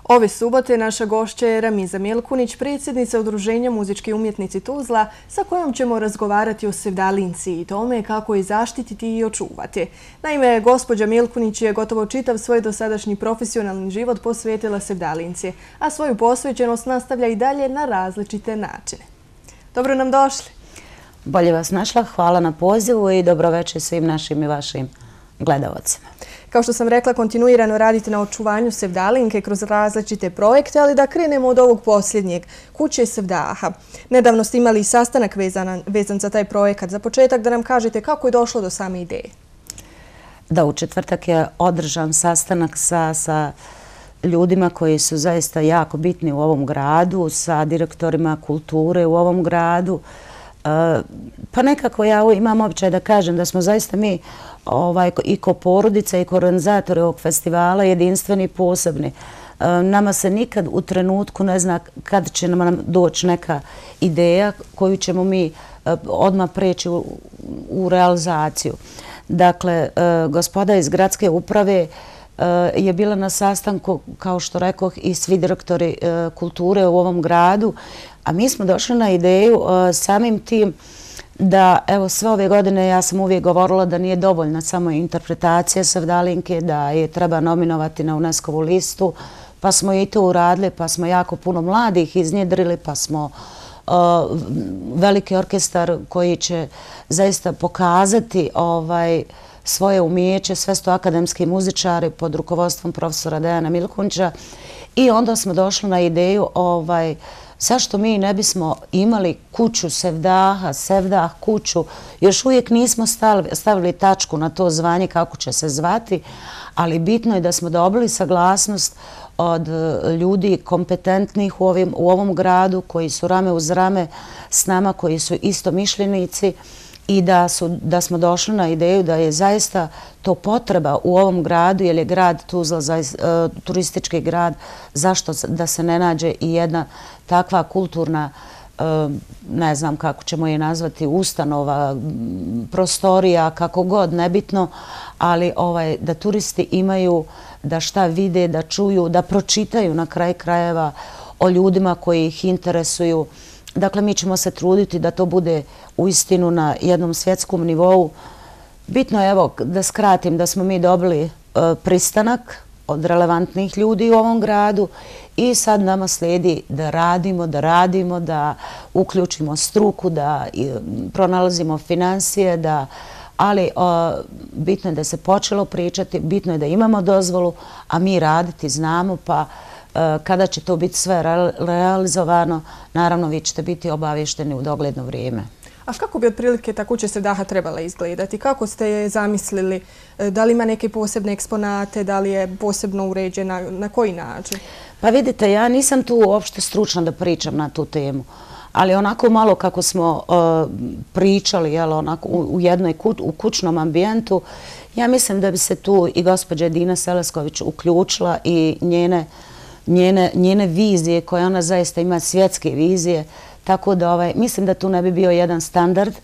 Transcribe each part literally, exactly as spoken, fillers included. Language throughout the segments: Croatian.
Ove subote naša gošća je Ramiza Milkunić, predsjednica Udruženja muzički umjetnici Tuzla, sa kojom ćemo razgovarati o sevdalinci i tome kako je zaštititi i očuvati. Naime, gospođa Milkunić je gotovo čitav svoj dosadašnji profesionalni život posvetila sevdalinci, a svoju posvećenost nastavlja i dalje na različite načine. Dobro nam došli. Bolje vas našla, hvala na pozivu i dobroveče svim našim i vašim gledalcima. Kao što sam rekla, kontinuirano radite na očuvanju sevdalinke kroz različite projekte, ali da krenemo od ovog posljednjeg, Kuće Sevdaha. Nedavno ste imali sastanak vezan, vezan za taj projekat. Za početak da nam kažete kako je došlo do same ideje. Da, u četvrtak je održan sastanak sa, sa ljudima koji su zaista jako bitni u ovom gradu, sa direktorima kulture u ovom gradu. E, pa nekako ja imam običaj da kažem da smo zaista mi Ovaj, i ko porodica i ko organizatori ovog festivala jedinstveni i posebni. E, nama se nikad u trenutku ne zna kad će nam doći neka ideja koju ćemo mi e, odmah preći u, u realizaciju. Dakle, e, gospoda iz gradske uprave e, je bila na sastanku, kao što rekoh, i svi direktori e, kulture u ovom gradu, a mi smo došli na ideju e, samim tim da, evo, sve ove godine ja sam uvijek govorila da nije dovoljna samo interpretacija sevdalinke, da je treba nominovati na UNESCO-vu listu, pa smo i to uradili, pa smo jako puno mladih iznjedrili, pa smo uh, veliki orkestar koji će zaista pokazati ovaj, svoje umijeće, sve sto akademski muzičari pod rukovodstvom profesora Dejana Milkunića, i onda smo došli na ideju ovaj, zašto mi ne bismo imali kuću Sevdaha, Sevdah kuću. Još uvijek nismo stavili tačku na to zvanje kako će se zvati, ali bitno je da smo dobili saglasnost od ljudi kompetentnih u, ovim, u ovom gradu, koji su rame uz rame s nama, koji su istomišljenici, i da, su, da smo došli na ideju da je zaista to potreba u ovom gradu, jer je grad Tuzla zaista, uh, turistički grad, zašto da se ne nađe i jedna takva kulturna, uh, ne znam kako ćemo je nazvati, ustanova, prostorija, kako god, nebitno, ali ovaj, da turisti imaju da šta vide, da čuju, da pročitaju na kraj krajeva o ljudima koji ih interesuju. Dakle, mi ćemo se truditi da to bude uistinu na jednom svjetskom nivou. Bitno je, evo, da skratim, da smo mi dobili e, pristanak od relevantnih ljudi u ovom gradu i sad nama slijedi da radimo, da radimo, da uključimo struku, da i, pronalazimo financije, da, ali o, bitno je da se počelo pričati, bitno je da imamo dozvolu, a mi raditi znamo, pa kada će to biti sve realizovano, naravno vi ćete biti obavješteni u dogledno vrijeme. A kako bi otprilike ta Kuća Sevdaha trebala izgledati? Kako ste je zamislili? Da li ima neke posebne eksponate? Da li je posebno uređena? Na koji način? Pa vidite, ja nisam tu uopšte stručna da pričam na tu temu. Ali onako malo kako smo uh, pričali, jel, onako, u, u jednoj kuć, u kućnom ambijentu, ja mislim da bi se tu i gospođa Dina Selesković uključila i njene Njene, njene vizije, koje ona zaista ima, svjetske vizije, tako da ovaj, mislim da tu ne bi bio jedan standard,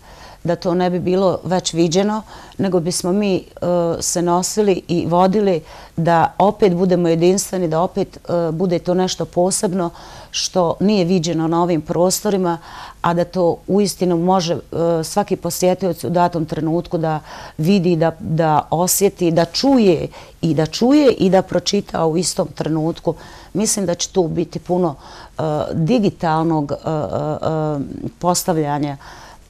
da to ne bi bilo već viđeno, nego bismo mi uh, se nosili i vodili da opet budemo jedinstveni, da opet uh, bude to nešto posebno što nije viđeno na ovim prostorima, a da to uistinu može uh, svaki posjetioc u datom trenutku da vidi, da, da osjeti, da čuje i da čuje i da pročita u istom trenutku. Mislim da će tu biti puno uh, digitalnog uh, uh, postavljanja,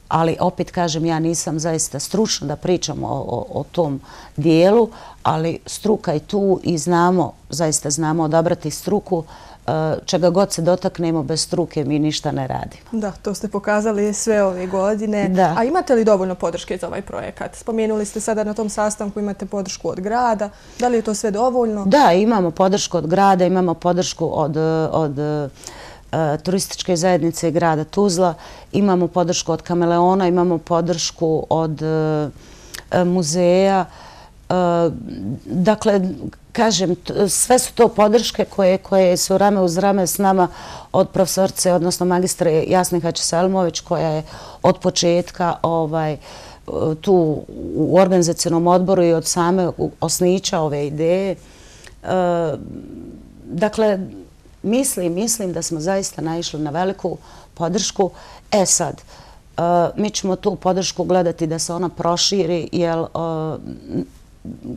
ali opet kažem, ja nisam zaista stručna da pričam o, o, o tom dijelu, ali struka je tu i znamo, zaista znamo odabrati struku. Čega god se dotaknemo, bez struke mi ništa ne radimo. Da, to ste pokazali sve ove godine. Da. A imate li dovoljno podrške za ovaj projekat? Spomenuli ste sada na tom sastanku imate podršku od grada. Da li je to sve dovoljno? Da, imamo podršku od grada, imamo podršku od, od uh, turističke zajednice grada Tuzla, imamo podršku od Kameleona, imamo podršku od uh, muzeja. Uh, dakle, kažem, sve su to podrške koje, koje su rame uz rame s nama od profesorce, odnosno magistre Jasne Hači-Selimović, koja je od početka ovaj, tu u organizacionom odboru i od same osnića ove ideje. E, dakle, mislim, mislim da smo zaista naišli na veliku podršku. E sad, mi ćemo tu podršku gledati da se ona proširi, jer,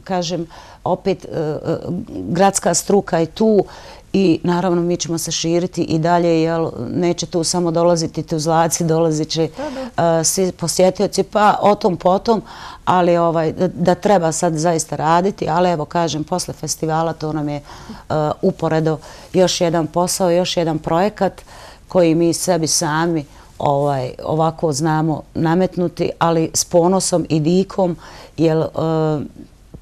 kažem, opet gradska struka je tu i naravno mi ćemo se širiti i dalje, jer neće tu samo dolaziti Tuzlaci, dolazit će svi posjetioci, pa o tom potom, ali da treba sad zaista raditi, ali evo kažem, posle festivala to nam je uporedo još jedan posao, još jedan projekat koji mi sebi sami ovako znamo nametnuti, ali s ponosom i dikom, jer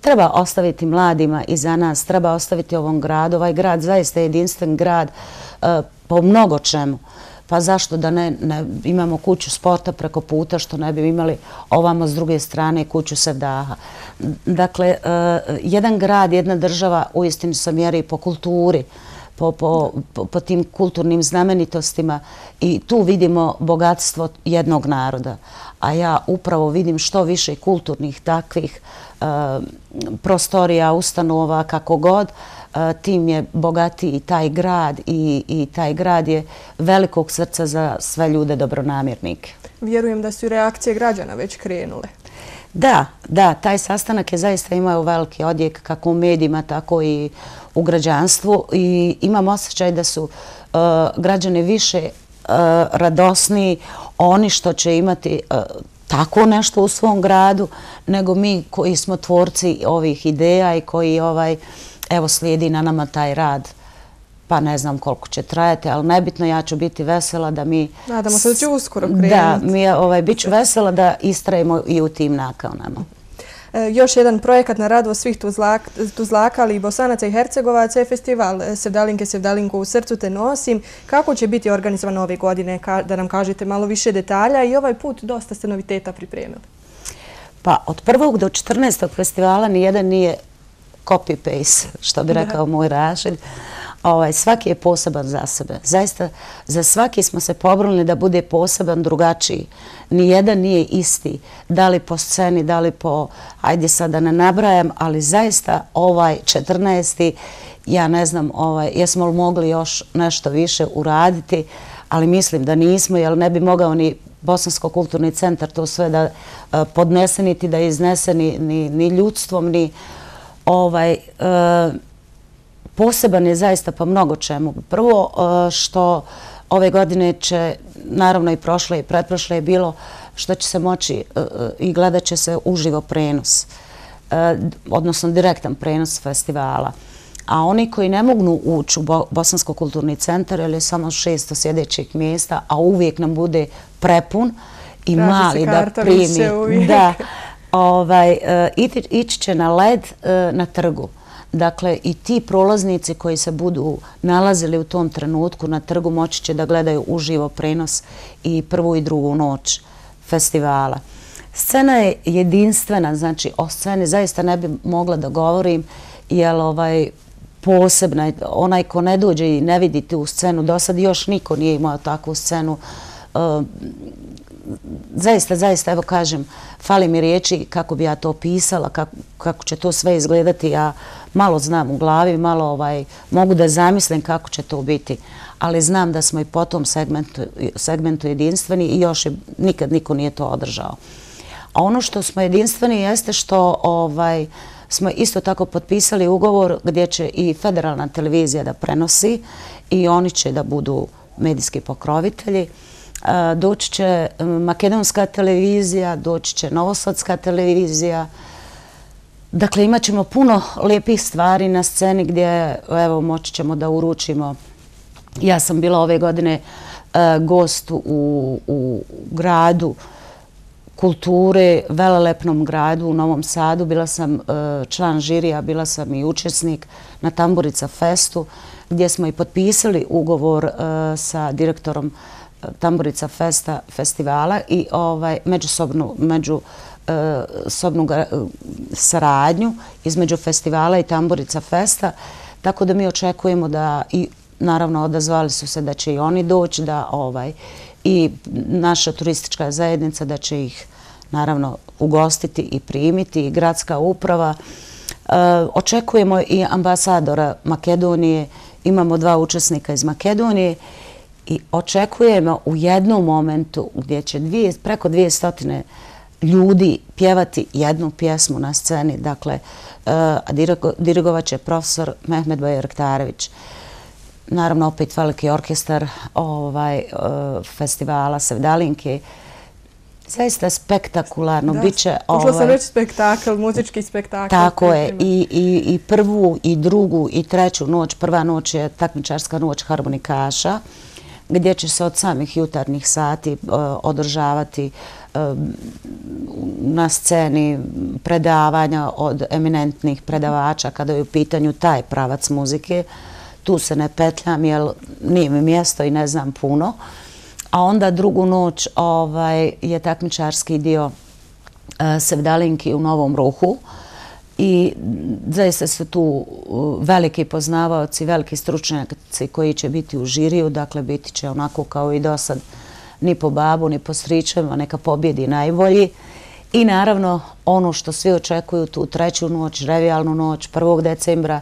treba ostaviti mladima iza nas, treba ostaviti ovom gradu. Ovaj grad zaista je jedinstven grad po mnogo čemu. Pa zašto da ne imamo kuću sporta preko puta, što ne bi imali ovamo s druge strane kuću Sevdaha. Dakle, jedan grad, jedna država uistinu se mjeri po kulturi, po tim kulturnim znamenitostima i tu vidimo bogatstvo jednog naroda. A ja upravo vidim što više kulturnih takvih prostorija, ustanova, kako god, tim je bogatiji taj grad i taj grad je velikog srca za sve ljude dobronamjernike. Vjerujem da su i reakcije građana već krenule. Da, da, taj sastanak je zaista imao veliki odjek kako u medijima, tako i u građanstvu i imam osjećaj da su građani više radosniji oni što će imati tako nešto u svom gradu, nego mi koji smo tvorci ovih ideja i koji evo slijedi na nama taj rad. Pa ne znam koliko će trajati, ali nebitno, ja ću biti vesela da mi... Nadamo se da će uskoro krenuti. Da, mi bit ću vesela da istrajemo i u tim nakaunama. Još jedan projekat na radost svih Tuzlaka, ali i Bosanaca i Hercegovaca je festival Sevdalinke, Sevdalinko u srcu te nosim. Kako će biti organizovan ove godine? Da nam kažete malo više detalja i ovaj put dosta ste noviteta pripremili. Pa od prvog do četrnaestog festivala nijedan nije copy-paste, što bi rekao moj Rašid. Svaki je poseban za sebe. Zaista, za svaki smo se pobrali da bude poseban, drugačiji. Nijedan nije isti. Da li po sceni, da li po... Ajde sad da ne nabrajam, ali zaista ovaj četrnaesti ja ne znam jesmo li mogli još nešto više uraditi, ali mislim da nismo, jer ne bi mogao ni Bosansko kulturni centar to sve da podnese, niti da iznese ni ljudstvom, ni ovaj... Poseban je zaista po mnogo čemu. Prvo što ove godine će, naravno i prošle i pretprošle je bilo što će se moći i gledat će se uživo prenos, odnosno direktan prenos festivala. A oni koji ne mogu ući u Bosansko kulturni centar, jer je samo šesto sjedećih mjesta, a uvijek nam bude prepun i mali da primi. Da, ići će na led na trgu. Dakle, i ti prolaznici koji se budu nalazili u tom trenutku na trgu moći će da gledaju uživo prenos i prvu i drugu noć festivala. Scena je jedinstvena, znači o sceni zaista ne bi mogla da govorim, jer posebna, onaj ko ne dođe i ne vidi tu scenu, do sad još niko nije imao takvu scenu. Zaista, zaista, evo kažem, fali mi riječi kako bi ja to opisala, kako će to sve izgledati. Ja malo znam u glavi, malo mogu da zamislim kako će to biti, ali znam da smo i po tom segmentu jedinstveni i još nikad niko nije to održao. A ono što smo jedinstveni jeste što smo isto tako potpisali ugovor gdje će i federalna televizija da prenosi i oni će da budu medijski pokrovitelji. Doći će makedonska televizija, doći će novosadska televizija. Dakle, imat ćemo puno lijepih stvari na sceni gdje, evo, moći ćemo da uručimo. Ja sam bila ove godine gost u gradu kulture, velelepnom gradu u Novom Sadu. Bila sam član žirija, bila sam i učesnik na Tamburica Festu, gdje smo i potpisali ugovor sa direktorom Tamburica Festa festivala i međusobnu saradnju između festivala i Tamburica Festa, tako da mi očekujemo da, i naravno odazvali su se da će i oni doći, da i naša turistička zajednica da će ih naravno ugostiti i primiti, i gradska uprava. Očekujemo i ambasadora Makedonije imamo dva učesnika iz Makedonije i očekujemo u jednom momentu gdje će dvije, preko dvije stotine ljudi pjevati jednu pjesmu na sceni. Dakle, dirigovat će profesor Mehmet Bajraktarević. Naravno, opet veliki orkestar ovaj, festivala Sevdalinke. Zaista spektakularno. Biće, ušla sam reći spektakl, muzički spektakl. Tako je. I, i, I prvu, i drugu, i treću noć. Prva noć je takmičarska noć harmonikaša, gdje će se od samih jutarnjih sati uh, održavati uh, na sceni predavanja od eminentnih predavača kada je u pitanju taj pravac muzike. Tu se ne petljam jer nije mi mjesto i ne znam puno. A onda drugu noć ovaj, je takmičarski dio uh, Sevdalinki u Novom Ruhu. I zaista su tu uh, veliki poznavaoci, veliki stručnjaci koji će biti u žiriju. Dakle, biti će onako kao i do sad, ni po babu, ni po stričevima, neka pobjedi najbolji. I naravno ono što svi očekuju, tu treću noć, revijalnu noć, prvog decembra,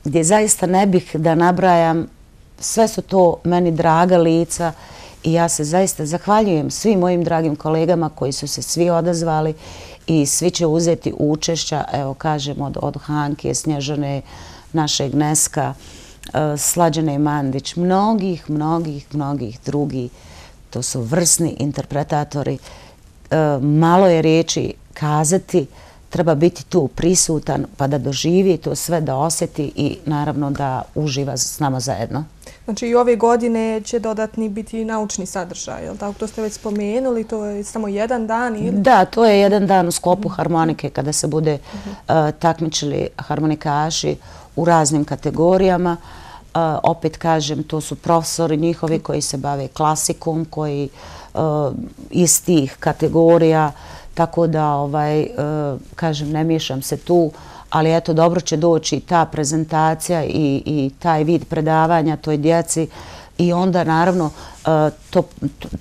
gdje zaista ne bih da nabrajam, sve su to meni draga lica i ja se zaista zahvaljujem svim mojim dragim kolegama koji su se svi odazvali i svi će uzeti učešća, evo kažem, od, od Hanke, Snježane, našeg Neska, Slađane Mandić, mnogih, mnogih, mnogih drugih. To su vrsni interpretatori. Malo je riječi kazati, treba biti tu prisutan pa da doživi to sve, da osjeti i naravno da uživa s nama zajedno. Znači i ove godine će dodatni biti naučni sadržaj, je li tako? To ste već spomenuli, to je samo jedan dan ili? Da, to je jedan dan u sklopu harmonike kada se bude uh, takmičili harmonikaši u raznim kategorijama. Uh, opet kažem, to su profesori njihovi koji se bave klasikom, koji uh, iz tih kategorija, tako da, ovaj, uh, kažem, ne miješam se tu, ali eto, dobro će doći ta prezentacija i, i taj vid predavanja toj djeci i onda, naravno, uh, to,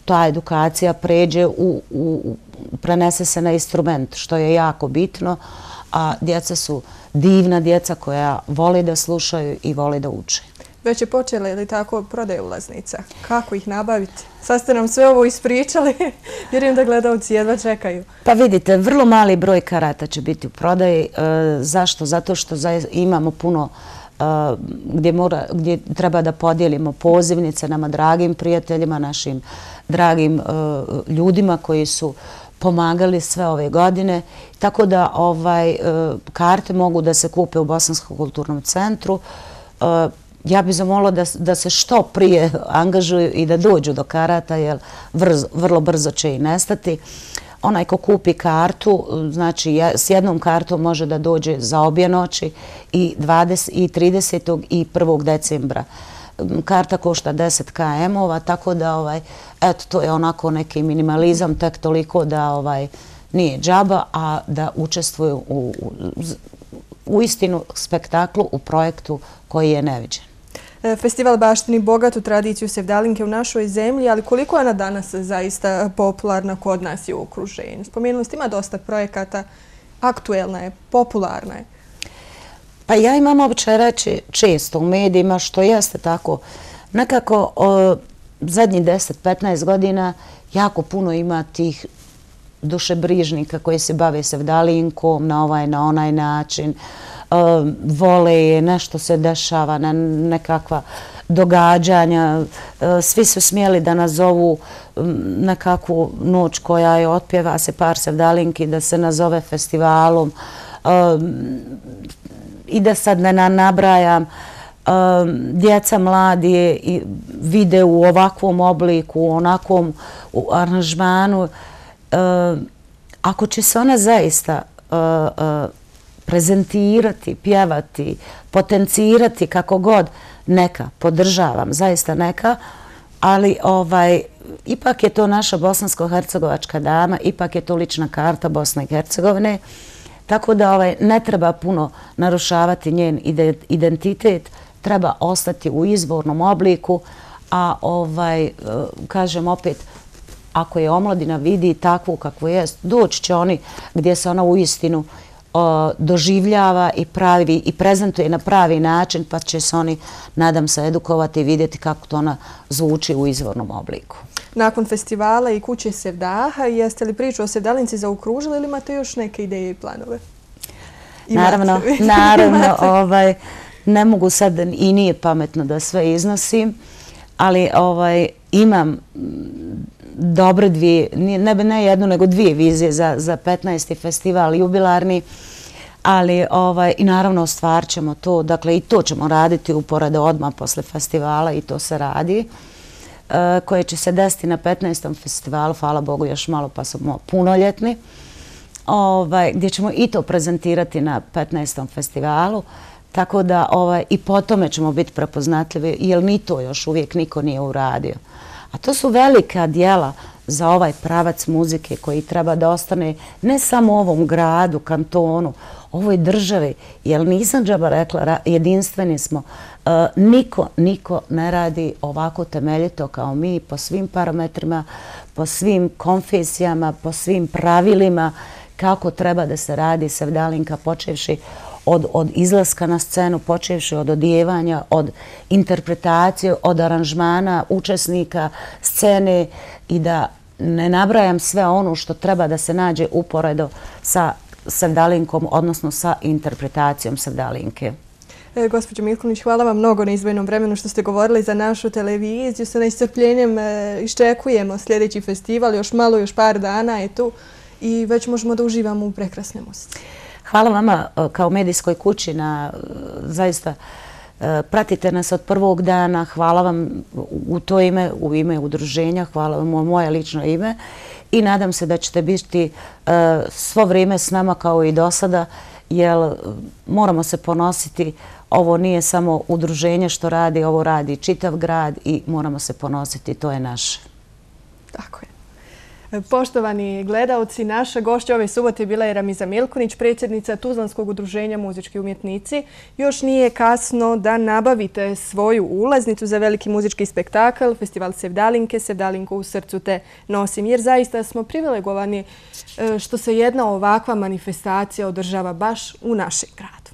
ta edukacija pređe, u, u, prenese se na instrument, što je jako bitno, a djeca su divna djeca koja vole da slušaju i vole da uče. Već je počela ili tako prodaje ulaznica? Kako ih nabaviti? Sad ste nam sve ovo ispričali. Vjerujem da gledalci jedva čekaju. Pa vidite, vrlo mali broj karata će biti u prodaji. E, zašto? Zato što imamo puno e, gdje, mora, gdje treba da podijelimo pozivnice nama dragim prijateljima, našim dragim e, ljudima koji su pomagali sve ove godine. Tako da ovaj, e, karte mogu da se kupe u Bosanskom kulturnom centru. E, Ja bih zamolila da, da se što prije angažuju i da dođu do karata, jer vrz, vrlo brzo će i nestati. Onaj ko kupi kartu, znači s jednom kartom može da dođe za obje noći i, dvadeset, i tridesetog i prvog decembra. Karta košta deset km-ova, tako da ovaj, eto, to je onako neki minimalizam, tek toliko da ovaj, nije džaba, a da učestvuju u, u, u istinu spektaklu, u projektu koji je neviđen. Festival baštini bogatu tradiciju Sevdalinke u našoj zemlji, ali koliko je ona danas zaista popularna kod nas i u okruženju? Spomenuli ste, ima dosta projekata, aktuelna je, popularna je. Pa ja imam običaj reći često u medijima, što jeste tako. Nekako o, zadnjih deset do petnaest godina jako puno ima tih dušebrižnika koji se bave Sevdalinkom na ovaj, na onaj način. Uh, vole je, nešto se dešava, na nekakva događanja. Uh, svi su smjeli da nazovu um, nekakvu noć koja je otpjeva se par Sevdalinki, da se nazove festivalom uh, i da sad ne nabrajam. Uh, djeca mladi je, vide u ovakvom obliku, u onakvom u aranžmanu. Uh, ako će se ona zaista uh, uh, prezentirati, pjevati, potencirati kako god, neka, podržavam, zaista neka, ali ovaj, ipak je to naša bosansko-hercegovačka dama, ipak je to lična karta Bosne i Hercegovine, tako da ovaj, ne treba puno narušavati njen identitet, treba ostati u izvornom obliku, a ovaj, kažem opet, ako je omladina vidi takvu kakvu jest, doći će oni gdje se ona u istinu doživljava i pravi i prezentuje na pravi način, pa će se oni, nadam se, edukovati i vidjeti kako to ona zvuči u izvornom obliku. Nakon festivala i Kuće Sevdaha, jeste li priču o Sevdalinci zaokružili ili imate još neke ideje i planove? Naravno, naravno, ovaj, ne mogu sad i nije pametno da sve iznosim, ali ovaj, imam dobre dvije, ne, ne jednu, nego dvije vizije za, za petnaesti festival jubilarni, ali ovaj, i naravno ostvarit ćemo to, dakle i to ćemo raditi uporedo odmah posle festivala i to se radi, e, koje će se desiti na petnaestom festivalu, hvala Bogu još malo pa smo punoljetni, ovaj, gdje ćemo i to prezentirati na petnaestom festivalu, tako da ovaj, i po tome ćemo biti prepoznatljivi, jer ni to još uvijek niko nije uradio. A to su velika djela za ovaj pravac muzike koji treba da ostane ne samo u ovom gradu, kantonu, ovoj državi, jer nisam džaba rekla, jedinstveni smo. E, niko, niko ne radi ovako temeljito kao mi, po svim parametrima, po svim konfesijama, po svim pravilima, kako treba da se radi Sevdalinka, počevši od, od izlaska na scenu, počevši od odijevanja, od interpretacije, od aranžmana, učesnika, scene i da ne nabrajam sve ono što treba da se nađe uporedo sa Sevdalinkom, odnosno sa interpretacijom Sevdalinke. E, gospođo Milkunić, hvala vam mnogo na izdvojenom vremenu što ste govorili za našu televiziju. Sa nestrpljenjem e, iščekujemo sljedeći festival, još malo, još par dana je tu i već možemo da uživamo u prekrasne muzici. Hvala vama kao medijskoj kući na zaista pratite nas od prvog dana. Hvala vam u to ime, u ime udruženja, hvala vam u moje lično ime i nadam se da ćete biti svo vrijeme s nama kao i do sada, jer moramo se ponositi. Ovo nije samo udruženje što radi, ovo radi čitav grad i moramo se ponositi, to je naše. Tako je. Poštovani gledalci, naša gošća ove subote bila je Ramiza Milkunić, predsjednica Tuzlanskog udruženja muzički umjetnici. Još nije kasno da nabavite svoju ulaznicu za veliki muzički spektakl, festival Sevdalinke, Sevdalinku u srcu te nosim, jer zaista smo privilegovani što se jedna ovakva manifestacija održava baš u našem gradu.